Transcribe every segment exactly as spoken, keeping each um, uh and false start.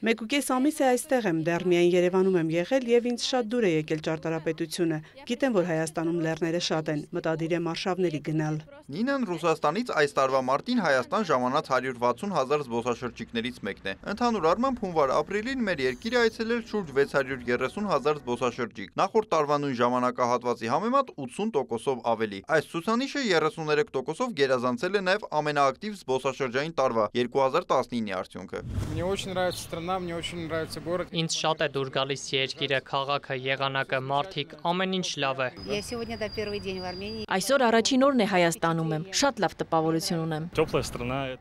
Մեկուկես ամիս է այստեղ եմ, դեռ միայն Երևանում եմ եղել եւ ինձ շատ դուր է եկել ճարտարապետությունը։ Գիտեմ, որ Հայաստանում լեռները շատ են, մտադիր եմ արշավների գնալ։ Նինան Ռուսաստանից այս տարվա մարտին Հայաստան ժամանած հարյուր վաթսուն հազար զբոսաշրջիկներից մեկն է։ Ընդհանուր առմամբ հունվար-ապրիլին մեր երկիր այցելել շուրջ վեց հարյուր երեսուն հազար զբոսաշրջիկ։ Նախորդ տարվա նույն ժամանակահատվածի համեմատ ութսուն տոկոսով ավելի։ Այս ցուցանիշը երեսուներեք տոկոսով գերազանցել է նաև ամենաակտիվ զբոսաշրջային տարվա երկու հազար տասնինի արդյունքը։ Ինձ շատ է դուր գալիս երկիրը, քաղաքը, եղանակը, մարդիկ, ամեն ինչ լավ է։ Այսօր առաջին օրն է Հայաստանում եմ, շատ լավ տպավորություն ունեմ։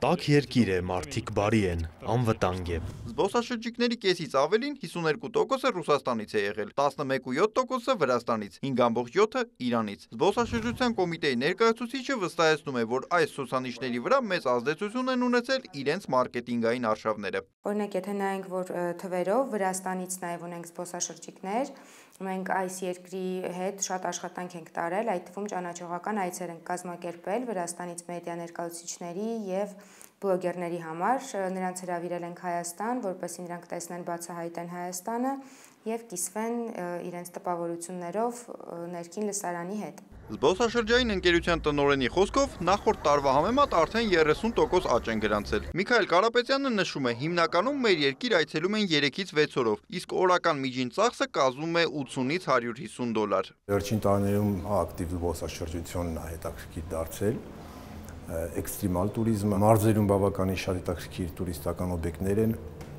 Տաք երկիր է, մարդիկ բարի են, անվտանգ է։ Զբոսաշրջիկների կեսից ավելին հիսուներկու տոկոսը Ռուսաստանից է եղել, տասնմեկ կόμμα յոթ տոկոսը Վրաստանից, հինգ կόμma յոթը Իրանից։ Զբոսաշրջության կոմիտեի ներկայացուցիչը վստահեցնում է, որ այս ցուցանիշների վրա մեծ ազդեցություն են ունեցել իրենց մարքեթինգային արշավները։ Օրինակ, եթե նայենք, որ թվերով Վրաստանից նաև ունենք զբոսաշրջիկներ, մենք այս երկրի հետ շատ աշխատանք ենք տարել, այդ թվում ճանաչողական այցեր ենք կազմակերպել Վրաստանից մեդիա ներկայացուցիչների եւ բլոգերների համար, նրանց հրավիրել ենք Հայաստան, որպեսզի նրանք տեսնեն, բացահայտեն Հայաստանը եւ կիսվեն իրենց տպավորություններով ներքին լսարանի հետ։ Զբոսաշրջային ընկերության տնօրենի խոսքով նախորդ տարվա համեմատ արդեն երեսուն տոկոս աճ են գրանցել։ Միքայել Կարապետյանը նշում է, հիմնականում մեր երկիր այցելում են երեքից վեց օրով, իսկ օրական միջին ծախսը կազմում է ութսունից հարյուր հիսուն դոլար։ Վերջին տարիներում ակտիվ զբոսաշրջությունն է հետաքրքիր դարձել, էքստրեմալ տուրիզմը, մարզերում բավականին շատ հետաքրքիր տուրիստական օբյեկտներ են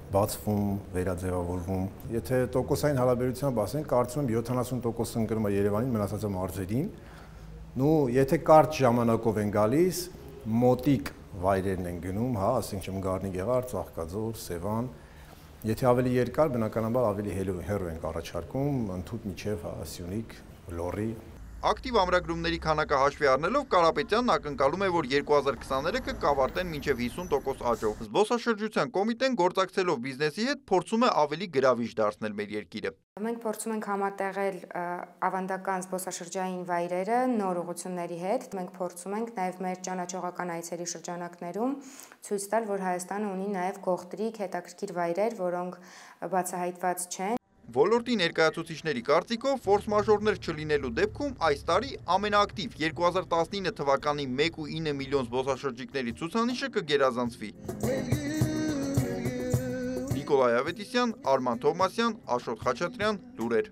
բացվում, վերաձևավորվում։ Եթե տոկոսային հարաբերությամբ ասենք, կարծում եմ յոթանասուն տոկոս ընկնում է Երևանին, մնացածը մարզերին։ Նու եթե կարճ ժամանակով են գալիս, մոտիկ վայրերն են գնում, հա, ասենք չեմ Գառնի Գեղարդ, Ծաղկաձոր, Սևան։ Եթե ավելի երկար, բնականաբար ավելի հեռու ենք առաջարկում, ընդհուպ միջև Սյունիք, Լոռի։ Ակտիվ ամրագրումների քանակը հաշվի առնելով Կարապետյանն ակնկալում է, որ երկու հազար քսաներեքը կավարտեն մինչև հիսուն տոկոս աճով։ Զբոսաշրջության կոմիտեն գործակցելով բիզնեսի հետ փորձում է ավելի գրավիչ դարձնել մեր երկիրը։ Մենք փորձում ենք համատեղել ավանդական զբոսաշրջային վայրերը նոր ուղղությունների հետ։ Մենք փորձում ենք նաև մեր ճանաչողական այցերի շրջանակներում ցույց տալ, որ Հայաստանը ունի նաև գողտրիկ, հետաքրքիր վայրեր, որոնք բացահայտված չեն։ Ոլորտի ներկայացուցիչների կարծիքով ֆորս մաժորներ չլինելու դեպքում այս տարի ամենաակտիվ երկու հազար տասնինը թվականի մեկ կόμma ինը միլիոն զբոսաշրջիկների ցուցանիշը կգերազանցվի։ Նիկոլայ Ավետիսյան, Արման Թովմասյան, Աշոտ Խաչատրյան, լուրեր։